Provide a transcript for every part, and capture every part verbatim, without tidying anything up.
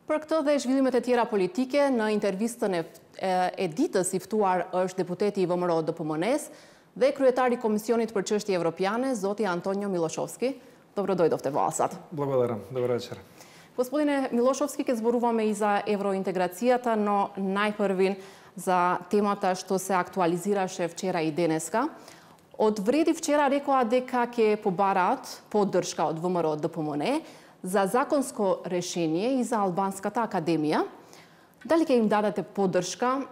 Për këtë dhe zhvillimet e tjera politike, në intervistën e e ditës i ftuar është deputeti i V M R O D P M N-s dhe kryetari i Komisionit për çështje evropiane, zoti Antonio Miloshovski. Dobrodojdovte власат. Благодарам. Добър вечер. Господине Милошовски, ке зборуваме и за евроинтеграцијата, но најпрвин за темата што се актуализираше вчера и денеска. Од вреди вчера рекоа дека ќе побараат поддршка од В М Р O Д П М Н за законско решение и за Албанската академија. Дали ќе им дадете поддршка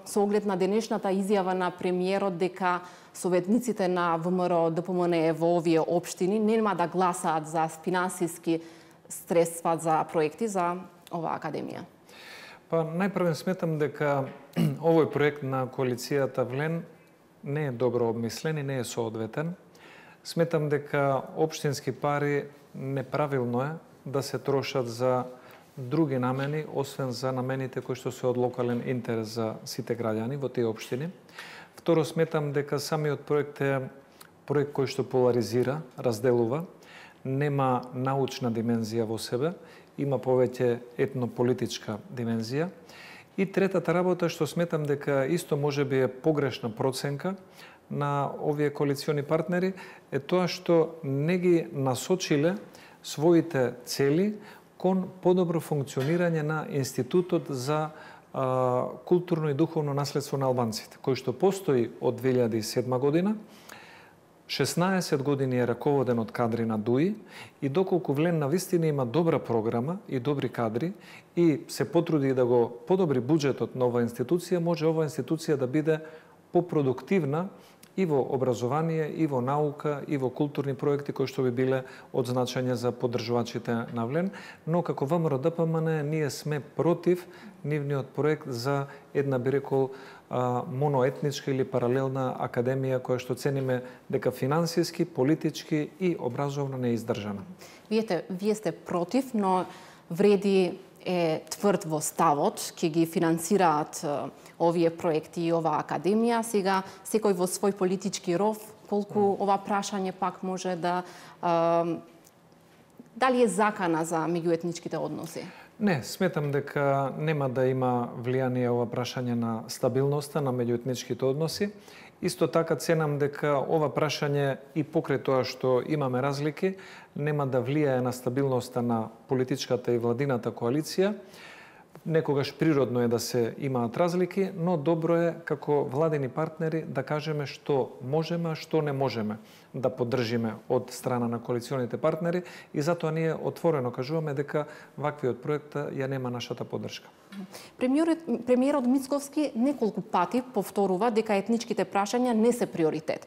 со оглед на денешната изјава на премиерот дека советниците на В М Р O Д П М Н во овие општини нема да гласаат за финансиски средства за проекти за оваа академија? Па, најпрвен сметам дека овој проект на коалицијата Влен не е добро обмислен и не е соодветен. Сметам дека општински пари неправилно е да се трошат за други намени, освен за намените кои што се од локален интерес за сите граѓани во тие општини. Второ, сметам дека самиот проект е проект кој што поларизира, разделува, нема научна димензија во себе, има повеќе етнополитичка димензија. И третата работа што сметам дека исто можеби е погрешна проценка на овие коалициони партнери е тоа што не ги насочиле своите цели кон подобро функционирање на Институтот за а, културно и духовно наследство на албанците, кој што постои од две илјади и седма година. шеснаесет години е раководен од кадри на ДУИ и доколку Влен навистина има добра програма и добри кадри и се потруди да го подобри буџетот на оваа институција, може оваа институција да биде попродуктивна и во образование, и во наука, и во културни проекти кои што би биле од значење за поддржувачите на Влен, но како В М Р O D P M N ние сме против нивниот проект за една, би рекол, моноетничка или паралелна академија која што цениме дека финансиски, политички и образовно не е издржана. Вие, вие сте против, но вреди е тврд во ставот, ќе ги финансираат овие проекти и оваа академија. Сега, секој во свој политички ров, колку ова прашање пак може да... А, дали е закана за меѓуетничките односи? Не, сметам дека нема да има влијание ова прашање на стабилноста на меѓуетничките односи. Исто така ценам дека ова прашање и покрај тоа што имаме разлики, нема да влијае на стабилноста на политичката и владината коалиција. Некогаш природно е да се имаат разлики, но добро е како владени партнери да кажеме што можеме, а што не можеме да поддржиме од страна на коалиционите партнери и затоа ние отворено кажуваме дека ваквиот проект ја нема нашата поддршка. Премиерот, премиерот Мицковски неколку пати повторува дека етничките прашања не се приоритет.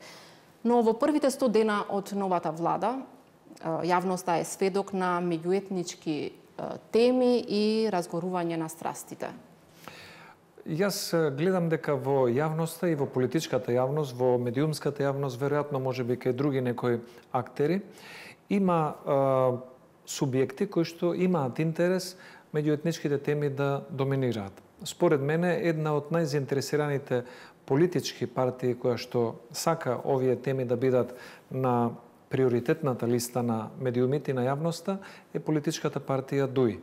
Но во првите сто дена од новата влада, јавноста е сведок на меѓуетнички теми и разгорување на страстите. Јас гледам дека во јавноста и во политичката јавност, во медиумската јавност, веројатно можеби кај други некои актери, има а, субјекти кои што имаат интерес меѓуетничките теми да доминираат. Според мене, една од најзаинтересираните политички партии која што сака овие теми да бидат на приоритетната листа на медиумите и на јавноста е политичката партија ДУИ.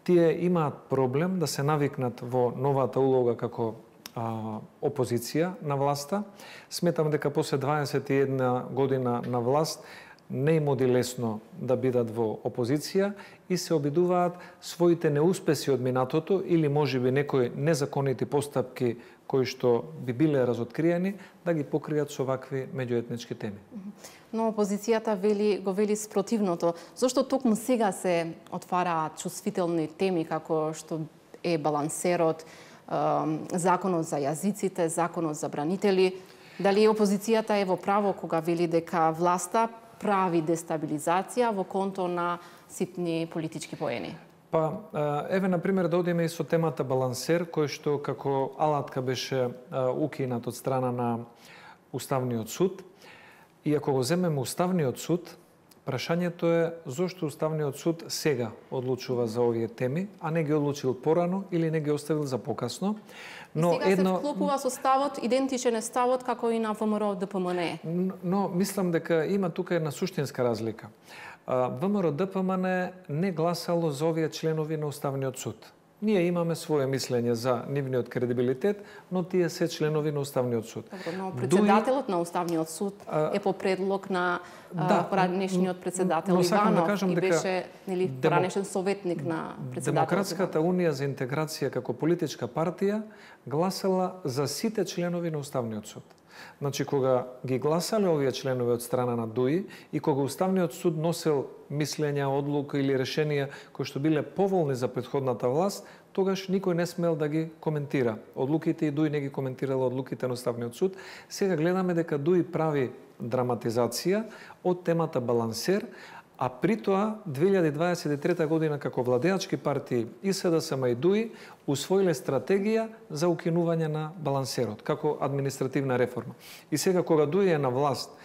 Тие имаат проблем да се навикнат во новата улога како а, опозиција на власта. Сметам дека после дваесет и една година на власт не им оди лесно да бидат во опозиција и се обидуваат своите неуспеси од минатото или можеби некои незаконити постапки кои што би биле разоткриени да ги покријат со вакви меѓуетнички теми. Но опозицијата вели, го вели спротивното. Зошто токму сега се отвараат чувствителни теми како што е балансерот, законот за јазиците, законот за бранители? Дали опозицијата е во право кога вели дека власта прави дестабилизација во конто на ситни политички поени? Па, еве, например, да одиме и со темата балансер, кој што како алатка беше укинат од страна на Уставниот суд. И ако го земеме Уставниот суд, прашањето е зошто Уставниот суд сега одлучува за овие теми, а не ги одлучил порано или не ги оставил за покасно. Но сега едно... се вклопува со ставот, идентичен е ставот како и на В М Р O Д П М Н. Но мислам дека има тука една суштинска разлика. ВМРО Д П М Н не гласало за овие членови на Уставниот суд. Ние имаме свое мислење за нивниот кредибилитет, но тие се членови на Уставниот суд. Добро, но председателот Дуи... на Уставниот суд е по предлог на да, поранешниот председател Иванов да кажам, и беше нели демо... поранешен советник на председателот. Демократската унија за интеграција како политичка партија гласала за сите членови на Уставниот суд. Значи, кога ги гласале овие членови од страна на Дуи и кога Уставниот суд носел мислења, одлука или решенија кои што биле поволни за претходната власт, тогаш никој не смел да ги коментира. Одлуките и Дуи не ги коментирала одлуките на Уставниот суд. Сега гледаме дека Дуи прави драматизација од темата балансер, а при тоа две илјади дваесет и трета година како владеачки партии и С Д С М и Дуи усвоиле стратегија за укинување на балансерот како административна реформа. И сега кога Дуи е на власт,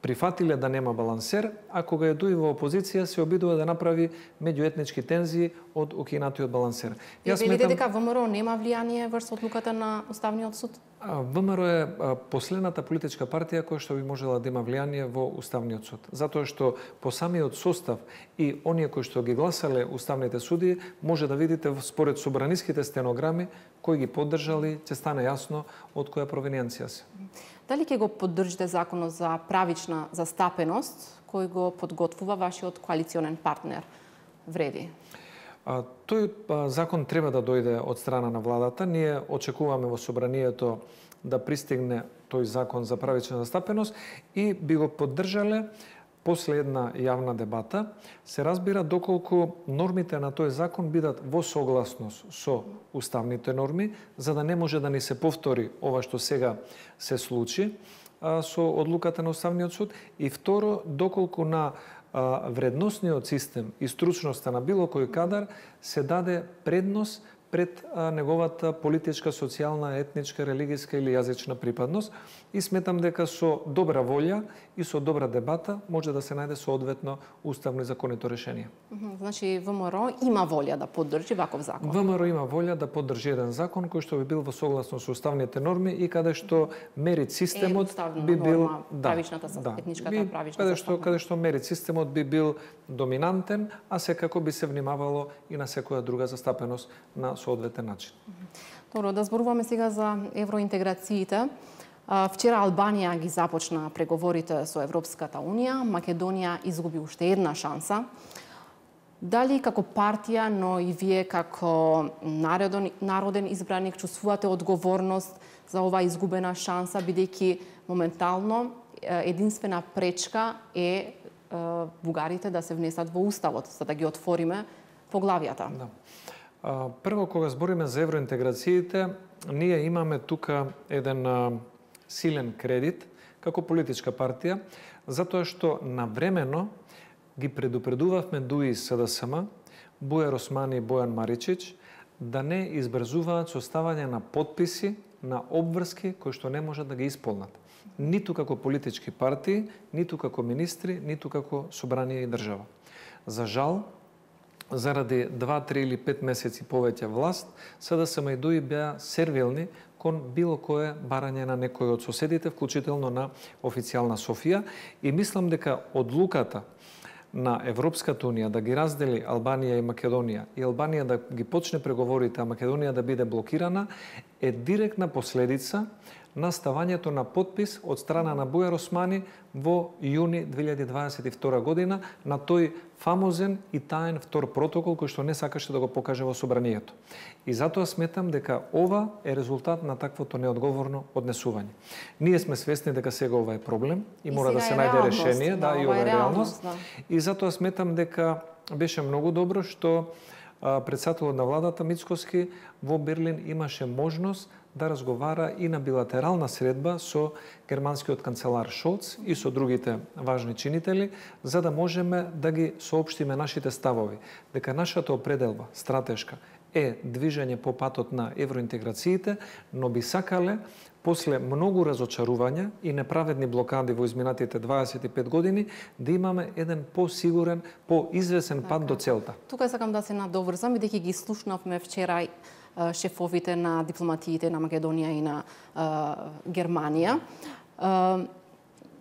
прифатиле да нема балансер, а кога е Дуи во опозиција се обидува да направи меѓуетнички тензии од укинатиот балансер. Јас велите дека ВМРО нема влијание врз одлуката на Уставниот суд? ВМРО е последната политичка партија која што би можела да има влијание во Уставниот суд. Затоа што по самиот состав и оние кои што ги гласале уставните судии, може да видите според собраниските стенограми кои ги поддржали, ќе стане јасно од која провиненција се. Дали ќе го поддржите законот за правична застапеност кој го подготвува вашиот коалиционен партнер Вреди? А, тој а, закон треба да дојде од страна на владата. Ние очекуваме во собранието да пристигне тој закон за правична застапеност и би го поддржале после една јавна дебата. Се разбира доколку нормите на тој закон бидат во согласност со уставните норми, за да не може да ни се повтори ова што сега се случи а, со одлуката на Уставниот суд. И второ, доколку на вредносниот систем и стручноста на било кој кадар се даде предност пред неговата политичка, социјална, етничка, религиска или јазична припадност и сметам дека со добра волја и со добра дебата може да се најде соодветно уставно и законито решение. Значи ВМРО има волја да поддржи ваков закон? ВМРО има волја да поддржи еден закон кој што би бил во согласност со уставните норми и каде што мерит системот би бил да, правичната да, етничката би, правична каде што каде што мерит системот би бил доминантен, а секако би се внимавало и на секоја друга застапеност на соодветен начин. Добро, да зборуваме сега за евроинтеграциите. Вчера Албанија ги започна преговорите со Европската унија, Македонија изгуби уште една шанса. Дали како партија, но и вие како народен, народен избраник чувствувате одговорност за оваа изгубена шанса, бидејќи моментално единствена пречка е бугарите да се внесат во уставот, за да ги отвориме поглавијата? Да. Прво, кога збориме за евроинтеграциите, ние имаме тука еден силен кредит како политичка партија, затоа што навремено ги предупредувавме Дуи и С Д С М, Бујар Османи и Бојан Маричич, да не избрзуваат со ставање на подписи на обврски кои што не можат да ги исполнат. Ниту како политички партии, ниту како министри, ниту како собрание и држава. За жал, заради два, три или пет месеци повеќе власт, С Д С М и Дуи беа сервилни кон било кое барање на некој од соседите, вклучително на официјална Софија, и мислам дека одлуката на Европската унија да ги раздели Албанија и Македонија и Албанија да ги почне преговорите, а Македонија да биде блокирана, е директна последица на ставањето на подпис од страна на Бујар Османи во јуни две илјади дваесет и втора година на тој фамозен и таен втор протокол кој што не сакаше да го покаже во собранието. И затоа сметам дека ова е резултат на таквото неодговорно однесување. Ние сме свесни дека сега ова е проблем и, и мора да се најде решение, да, да и ова е реалност. Да. И затоа сметам дека беше многу добро што председателот на владата Мицкоски во Берлин имаше можност да разговара и на билатерална средба со германскиот канцелар Шолц и со другите важни чинители, за да можеме да ги соопштиме нашите ставови, дека нашата определба стратешка е движење по патот на евроинтеграциите, но би сакале после многу разочарувања и неправедни блокади во изминатите дваесет и пет години, да имаме еден посигурен, поизвесен пат до целта. Тука сакам да се надоврзам, бидејќи ги слушнавме вчера шефовите на дипломатиите на Македонија и на uh, Германија. Uh,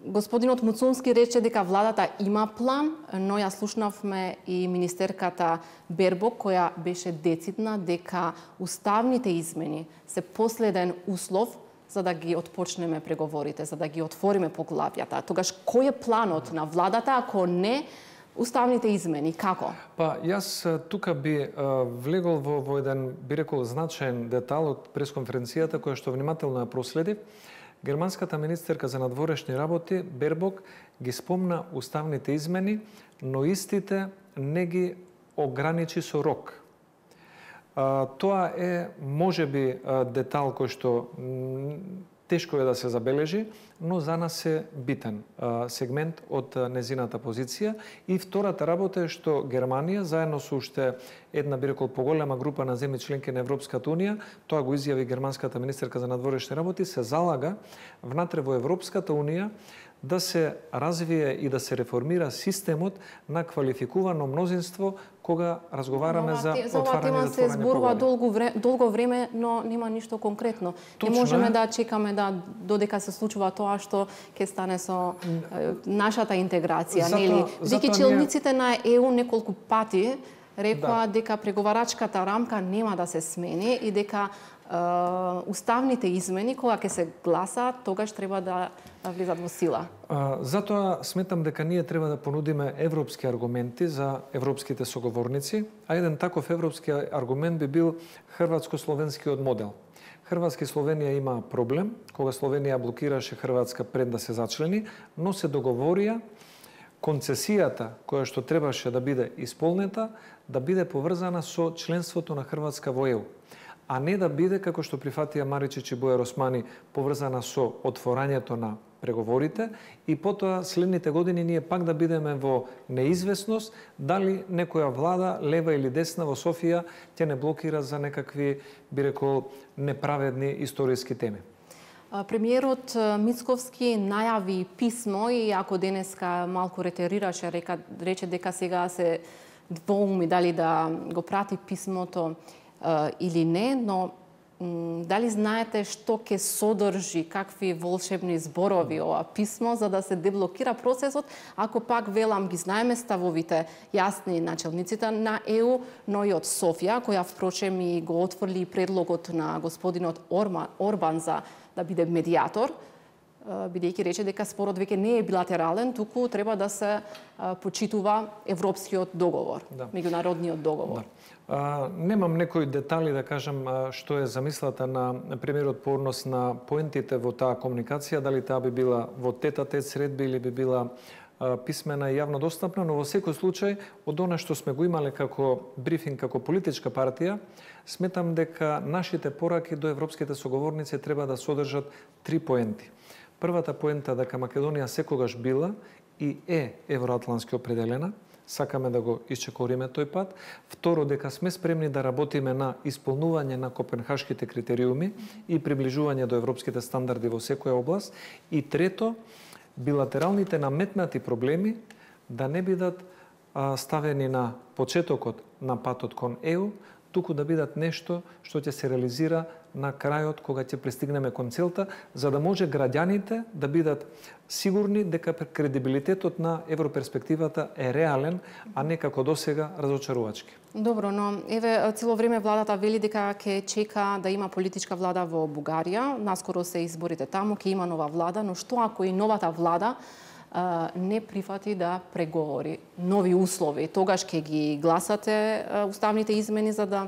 Господинот Муцунски рече дека владата има план, но ја слушнавме и министерката Бербок, која беше децидна дека уставните измени се последен услов за да ги отпочнеме преговорите, за да ги отвориме поглавјата. Тогаш кој е планот на владата ако не уставните измени? Како? Па, јас тука би а, влегол во, во еден, би рекол, значаен детал од пресконференцијата која што внимателно ја проследив. Германската министерка за надворешни работи Бербок ги спомна уставните измени, но истите не ги ограничи со рок. А, тоа е можеби детал кој што тешко е да се забележи, но за нас е битен а, сегмент од незината позиција. И втората работа е што Германија, заедно со уште една, би рекол, поголема група на земји членки на Европската унија, тоа го изјави германската министерка за надворешни работи, се залага внатре во Европската унија да се развие и да се реформира системот на квалификувано мнозинство кога разговараме за отварање и затворање тема се зборува долго време, долго време, но нема ништо конкретно. Точно, не можеме е. да чекаме да додека се случува тоа што ќе стане со е, нашата интеграција, Зато, нели? Деки челниците ние... на Е У неколку пати рекоа да. дека преговарачката рамка нема да се смени и дека Uh, уставните измени, кога ќе се гласаат, тогаш треба да влизат во сила. Uh, затоа сметам дека ние треба да понудиме европски аргументи за европските соговорници, а еден таков европски аргумент би бил хрватско-словенскиот модел. Хрватска и Словенија има проблем, кога Словенија блокираше Хрватска пред да се зачлени, но се договорија концесијата која што требаше да биде исполнета, да биде поврзана со членството на Хрватска во Е У, а не да биде, како што при Фатија Маричич и Бојар Османи, поврзана со отворањето на преговорите и потоа следните години ние пак да бидеме во неизвестност дали некоја влада, лева или десна во Софија, ќе не блокира за некакви, би рекол, неправедни историски теми. Премиерот Мицковски најави писмо и ако денеска малку ретерираше, река, рече дека сега се двоуми дали да го прати писмото или не, но дали знаете што ќе содржи, какви волшебни зборови ова писмо за да се деблокира процесот, ако пак велам ги знаеме ставовите јасни начелниците на Е У, но и од Софија, која впрочем и го отфрли предлогот на господинот Орма, Орбан за да биде медиатор, бидејќи рече дека спорот веќе не е билатерален, туку треба да се почитува европскиот договор, да. Меѓународниот договор. Да. А, немам некои детали да кажам а, што е замислата на премиерот по однос на поентите во таа комуникација, дали таа би била во тет-а-тет средби или би била а, писмена и јавно достапна, но во секој случај од она што сме го имале како брифинг, како политичка партија, сметам дека нашите пораки до европските соговорници треба да содржат три поенти. Првата поента дека Македонија секогаш била и е евроатлански определена, сакаме да го исчекориме тој пат. Второ, дека сме спремни да работиме на исполнување на копенхашките критериуми и приближување до европските стандарди во секоја област. И трето, билатералните наметнати проблеми да не бидат а, ставени на почетокот на патот кон Е У, туку да бидат нешто што ќе се реализира на крајот кога ќе пристигнеме кон целта, за да може граѓаните да бидат сигурни дека кредибилитетот на европерспективата е реален, а не како досега разочарувачки. Добро, но еве цело време владата вели дека ќе чека да има политичка влада во Бугарија. Наскоро се изборите таму, ќе има нова влада, но што ако и новата влада не прифати да преговори нови услови? Тогаш ќе ги гласате уставните измени за да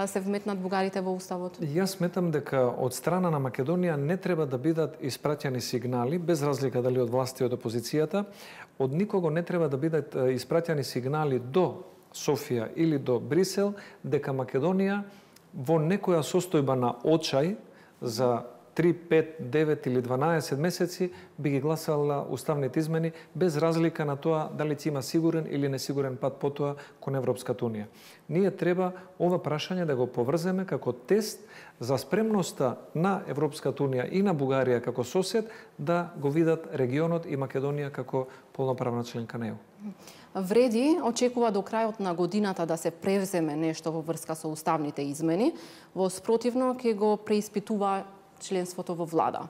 се вметнат бугарите во уставот? Јас сметам дека од страна на Македонија не треба да бидат испраќани сигнали, без разлика дали од власти и од опозицијата, од никого не треба да бидат испраќани сигнали до Софија или до Брисел дека Македонија во некоја состојба на очај за три, пет, девет или дванаесет месеци би ги гласала уставните измени без разлика на тоа дали ќе има сигурен или несигурен пат потоа кон Европската унија. Ние треба ова прашање да го поврземе како тест за спремноста на Европската унија и на Бугарија како сосед да го видат регионот и Македонија како полноправна членка на Е У. Вреди очекува до крајот на годината да се превземе нешто во врска со уставните измени, во спротивно ќе го преиспитува членството во влада.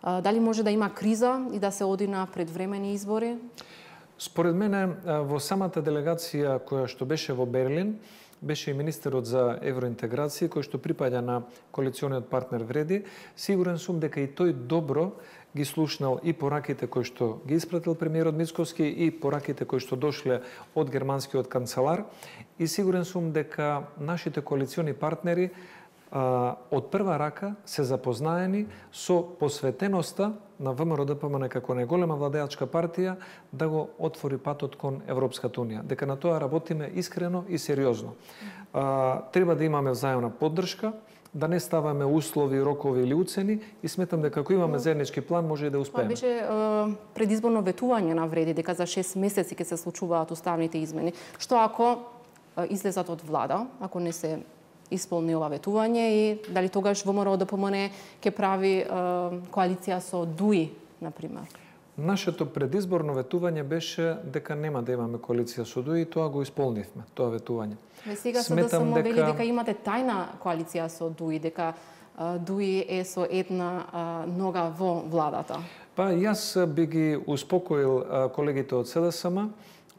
Дали може да има криза и да се оди на предвремени избори? Според мене, во самата делегација која што беше во Берлин, беше и министерот за евроинтеграција, кој што припаѓа на коалициониот партнер Вреди. Сигурен сум дека и тој добро ги слушнал и пораките кои што ги испратил премиерот Мицкоски и пораките кои што дошле од германскиот канцелар. И сигурен сум дека нашите коалициони партнери а, од прва рака се запознаени со посветеноста на ВМРО-ДПМН како најголема владеачка партија да го отвори патот кон Европската унија. Дека на тоа работиме искрено и сериозно. А, треба да имаме взаемна поддршка, да не ставаме услови, рокови или уцени и сметам дека ако имаме заеднички план може и да успееме. Тоа беше е, предизборно ветување на Вреди дека за шест месеци ќе се случуваат уставните измени. Што ако е, излезат од влада, ако не се исполни ова ветување и дали тогаш ВМРО-ДПМН ќе прави е, коалиција со ДУИ, например? Нашето предизборно ветување беше дека нема да имаме коалиција со ДУИ и тоа го исполнивме, тоа ветување. Ве сега се да само дека... вели дека имате тајна коалиција со ДУИ, дека а, ДУИ е со една а, нога во владата. Па јас би ги успокоил а, колегите од СДСМ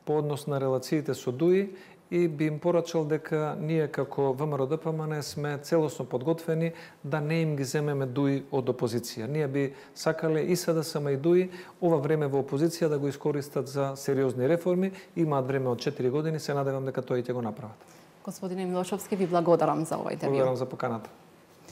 по однос на релациите со ДУИ и би им порачал дека ние како ВМРО-ДПМН сме целосно подготвени да не им ги земеме ДУИ од опозиција. Ние би сакале и СДСМ и ДУИ ова време во опозиција да го искористат за сериозни реформи. Имаат време од четири години, се надевам дека тој ќе го направат. Господине Милошовски, ви благодарам за овој интервју. Благодарам за поканата.